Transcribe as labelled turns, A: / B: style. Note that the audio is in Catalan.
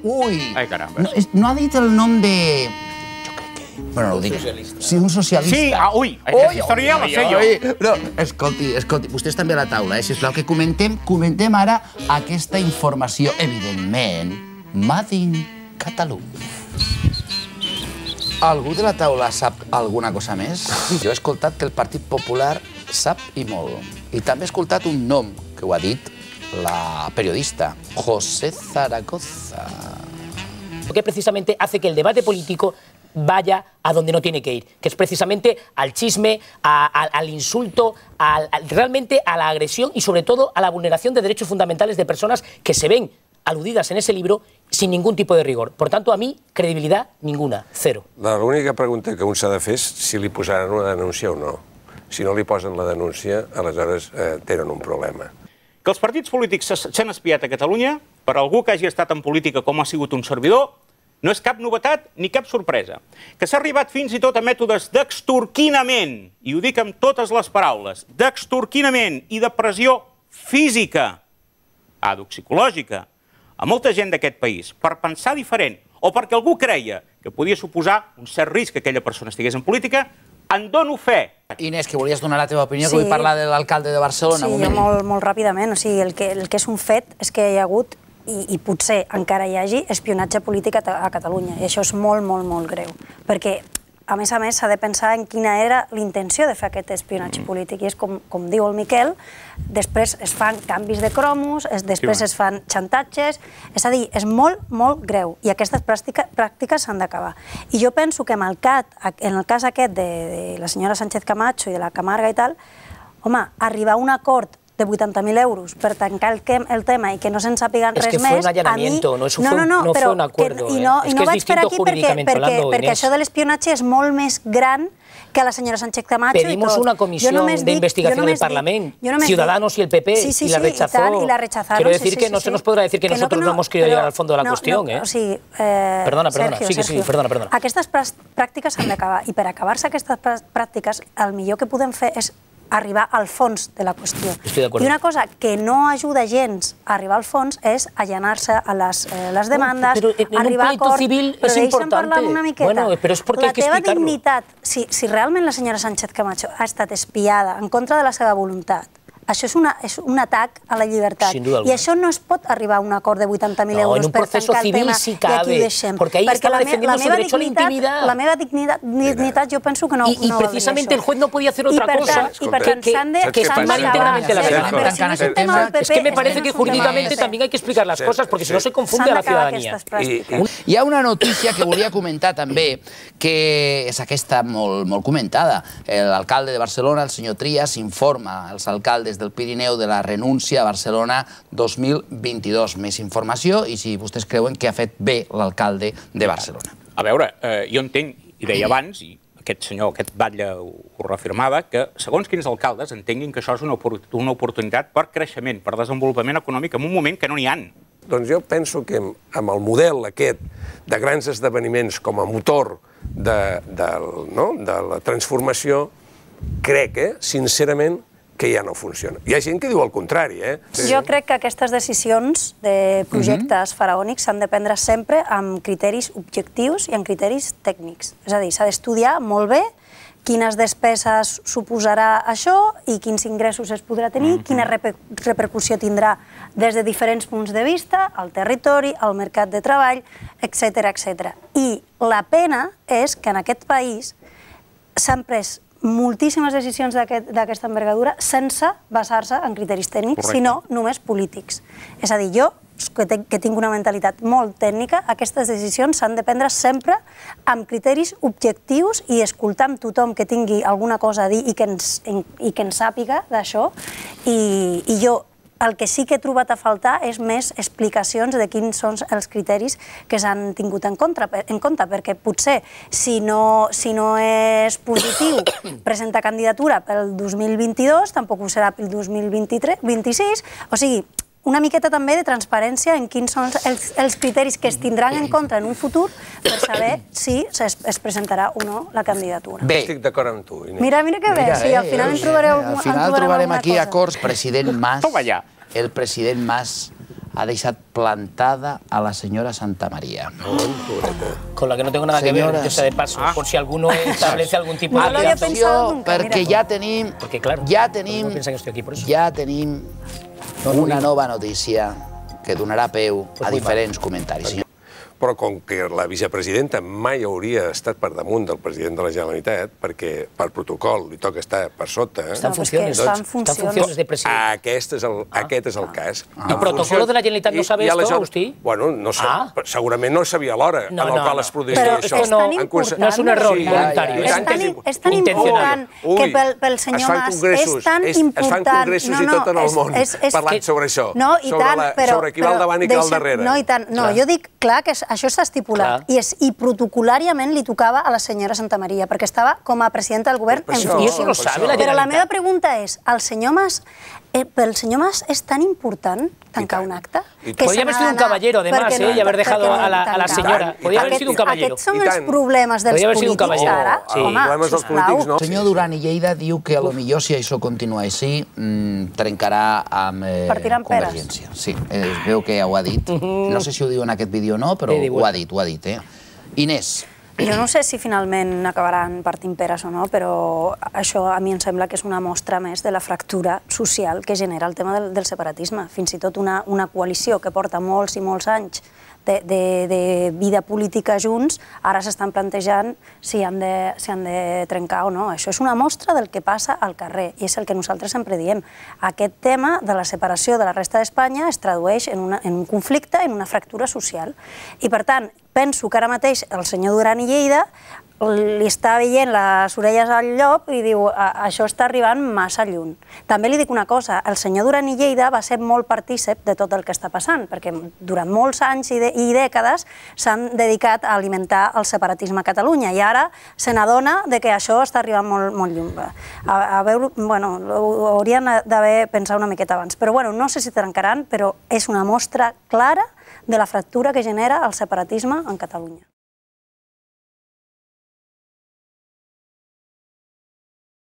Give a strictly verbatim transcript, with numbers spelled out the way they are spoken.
A: Ui!
B: Ai, caramba.
A: No ha dit el nom de... Jo crec que... Bueno, no ho dic. Sí, un socialista.
B: Sí, ah, ui, aquesta història ja la sé jo.
A: No, escolti, escolti, vostès també a la taula, eh? Sisplau, que comentem, comentem ara aquesta informació, evidentment, Made in Catalunya. Algú de la taula sap alguna cosa més? Jo he escoltat que el Partit Popular sap i molt. I també he escoltat un nom que ho ha dit la periodista, José Zaragoza.
C: Que precisamente hace que el debate político vaya a donde no tiene que ir, que es precisamente al chisme, a, a, al insulto, a, a, realmente a la agresión y sobre todo a la vulneración de derechos fundamentales de personas que se ven aludidas en ese libro sin ningún tipo de rigor. Por tanto, a mí, credibilidad ninguna, cero.
D: L'única pregunta que un s'ha de fer és si li posaran una denúncia o no. Si no li posen la denúncia, aleshores eh, tenen un problema.
B: Que els partits polítics s'han espiat a Catalunya, per algú que hagi estat en política com ha sigut un servidor, no és cap novetat ni cap sorpresa. Que s'ha arribat fins i tot a mètodes d'extorquinament, i ho dic amb totes les paraules, d'extorquinament i de pressió física, psicològica, a molta gent d'aquest país, per pensar diferent, o perquè algú creia que podia suposar un cert risc que aquella persona estigués en política, en dono fe.
A: Inés, que volies donar la teva opinió, que vull parlar de l'alcalde de Barcelona.
E: Sí, jo molt, molt ràpidament. O sigui, el que, el que és un fet és que hi ha hagut, i, i potser encara hi hagi, espionatge polític a, a Catalunya. I això és molt, molt, molt greu. Perquè, a més a més, s'ha de pensar en quina era l'intenció de fer aquest espionatge polític. I és com, com diu el Miquel, després es fan canvis de cromos, es, després es fan xantatges... És a dir, és molt, molt greu. I aquestes pràctica, pràctiques s'han d'acabar. I jo penso que amb el C A T, en el cas aquest de, de la senyora Sánchez Camacho i de la Camarga i tal, home, arribar a un acord de vuitanta mil euros per tancar el, el tema i que no se'n sàpiguen res més...
C: És que fue un allanamiento, no, eso
E: no, no, no,
C: no
E: però,
C: fue un acuerdo.
E: Que, I no,
C: eh?
E: i no vaig per aquí perquè, perquè,
C: hablando,
E: perquè això de l'espionatge és molt més gran que la senyora Sánchez Camacho.
C: Pedimos
E: y todo.
C: una comisión de investigación del Parlamento, Ciudadanos y el P P,
E: sí, sí,
C: y la rechazó.
E: Sí, y, tal, y la rechazaron.
C: Quiero decir
E: sí, sí,
C: que
E: sí,
C: no
E: sí.
C: se nos podrá decir que, que nosotros no, no, no hemos querido
E: pero,
C: llegar al fondo de la
E: no,
C: cuestión.
E: No,
C: ¿eh?
E: o sigui, eh,
C: perdona, perdona,
E: Sergio,
C: sí que
E: Sergio,
C: sí, perdona, perdona.
E: Aquestes pràctiques s'han d'acabar, i per acabar-se aquestes pràctiques, el millor que podem fer és arribar al fons de la qüestió. I una cosa que no ajuda gens a arribar al fons és allanar-se a les, eh, les demandes,
C: pero en
E: arribar a acord,
C: però
E: deixa'm parlar una miqueta.
C: Bueno, però és perquè
E: la
C: hay que
E: teva
C: explicarlo.
E: dignitat, si, si realment la senyora Sánchez Camacho ha estat espiada en contra de la seva voluntat, això és, una, és un atac a la llibertat. I això no es pot arribar a un acord de vuitanta mil euros
C: no,
E: per tancar el tema
C: si
E: i aquí ho deixem.
C: Porque ahí estaba defendiendo su derecho a la intimidad.
E: La meva dignitat, dignitat jo penso que no,
C: y, y
E: no
C: precisamente el juez no podía hacer otra
E: per
C: cosa
E: tant, I per tant s'han de...
C: que estimar íntegramente la verdad. Es que me parece que jurídicamente también hay que explicar las cosas, porque si no se confunde a la ciudadanía.
A: Hi ha una notícia que volia comentar també, que és aquesta molt, molt comentada. L'alcalde de Barcelona, el senyor Trias, informa als alcaldes del Pirineu de la renúncia a Barcelona dos mil vint-i-dos. Més informació i si vostès creuen que ha fet bé l'alcalde de Barcelona.
B: A veure, eh, jo entenc, i deia abans, i aquest senyor, aquest batlle ho, ho reafirmava, que segons quins alcaldes entenguin que això és una, una oportunitat per creixement, per desenvolupament econòmic en un moment que no n'hi ha.
D: Doncs jo penso que amb el model aquest de grans esdeveniments com a motor de, de, no? de la transformació, crec, eh, sincerament, que ja no funciona. Hi ha gent que diu el contrari, eh?
E: Jo crec que aquestes decisions de projectes faraònics s'han de prendre sempre amb criteris objectius i amb criteris tècnics. És a dir, s'ha d'estudiar molt bé quines despeses suposarà això i quins ingressos es podrà tenir, quina repercussió tindrà des de diferents punts de vista, al territori, al mercat de treball, etcètera, etcètera. I la pena és que en aquest país s'han pres moltíssimes decisions d'aquesta envergadura sense basar-se en criteris tècnics, sinó només polítics. És a dir, jo, que tinc una mentalitat molt tècnica, aquestes decisions s'han de prendre sempre amb criteris objectius i escoltar amb tothom que tingui alguna cosa a dir i que ens sàpiga d'això. I jo el que sí que he trobat a faltar és més explicacions de quins són els criteris que s'han tingut en compte, perquè potser si no és positiu presentar candidatura pel dos mil vint-i-dos, tampoc ho serà pel dos mil vint-i-sis, o sigui, una miqueta també de transparència en quins són els criteris que es tindran en compte en un futur per saber si es presentarà o no la candidatura.
D: Bé, estic d'acord amb tu, Inés.
E: Mira, mira que bé, sí, al final en trobareu alguna cosa.
A: Al final trobarem aquí acords, president Mas, el president Mas ha deixat plantada a la senyora Santamaría.
C: Con la que no tengo nada que ver, yo sé de paso, por si alguno establece algún tipo de
A: aliança. Perquè ja tenim,
C: Porque claro,
A: ja tenim,
C: no piensan que estoy aquí por eso.
A: ja tenim una nova notícia que donarà peu a diferents comentaris.
D: Però com que la vicepresidenta mai hauria estat per damunt del president de la Generalitat, perquè per protocol li toca estar per sota...
C: Està en funcions,
E: està en funcions
C: de president.
D: Aquest és el, aquest és el cas.
C: ¿Y protocolo de la Generalitat no sabe esto, Agustí?
D: Bueno, no sé, segurament no sabia l'hora en el qual es produiria
E: Però
D: això.
E: és tan important...
C: No és un error voluntari.
E: És tan important que pel senyor Mas és tan important...
D: Es fan congressos i tot en el món parlant sobre això, sobre qui va al davant i qui va al darrere.
E: No, i tant. No, jo dic, clar, que això està estipulat. I, és, i protocolàriament li tocava a la senyora Santamaría, perquè estava com a presidenta del govern en funcions. Però la meva pregunta és, el senyor Mas, eh, pel senyor Mas és tan important tancar un acte?
C: Podria haver sido un caballero, además, eh, y haber dejado a la, a la señora. Podria haver sido un caballero.
E: Aquests són els problemes dels polítics ara? Home, sisplau.
A: El senyor Duran i Lleida diu que potser si això continua així trencarà amb Convergència. Sí, es veu que ho ha dit. No sé si ho diu en aquest vídeo o no, però ho ha dit, ho ha dit. Inés.
E: Jo no sé si finalment acabaran partint peres o no, però això a mi em sembla que és una mostra més de la fractura social que genera el tema del, del separatisme. Fins i tot una, una coalició que porta molts i molts anys de, de, de vida política junts, ara s'estan plantejant si han, de, si han de trencar o no. Això és una mostra del que passa al carrer i és el que nosaltres sempre diem. Aquest tema de la separació de la resta d'Espanya es tradueix en, una, en un conflicte, en una fractura social. I per tant, penso que ara mateix el senyor Duran i Lleida li està veient les orelles al llop i diu això està arribant massa lluny. També li dic una cosa, el senyor Duran i Lleida va ser molt partícip de tot el que està passant, perquè durant molts anys i, i dècades s'han dedicat a alimentar el separatisme a Catalunya i ara se n'adona que això està arribant molt, molt lluny. A, a veure, bueno, ho haurien d'haver pensat una miqueta abans, però bueno, no sé si trencaran, però és una mostra clara de la fractura que genera el separatisme en Catalunya.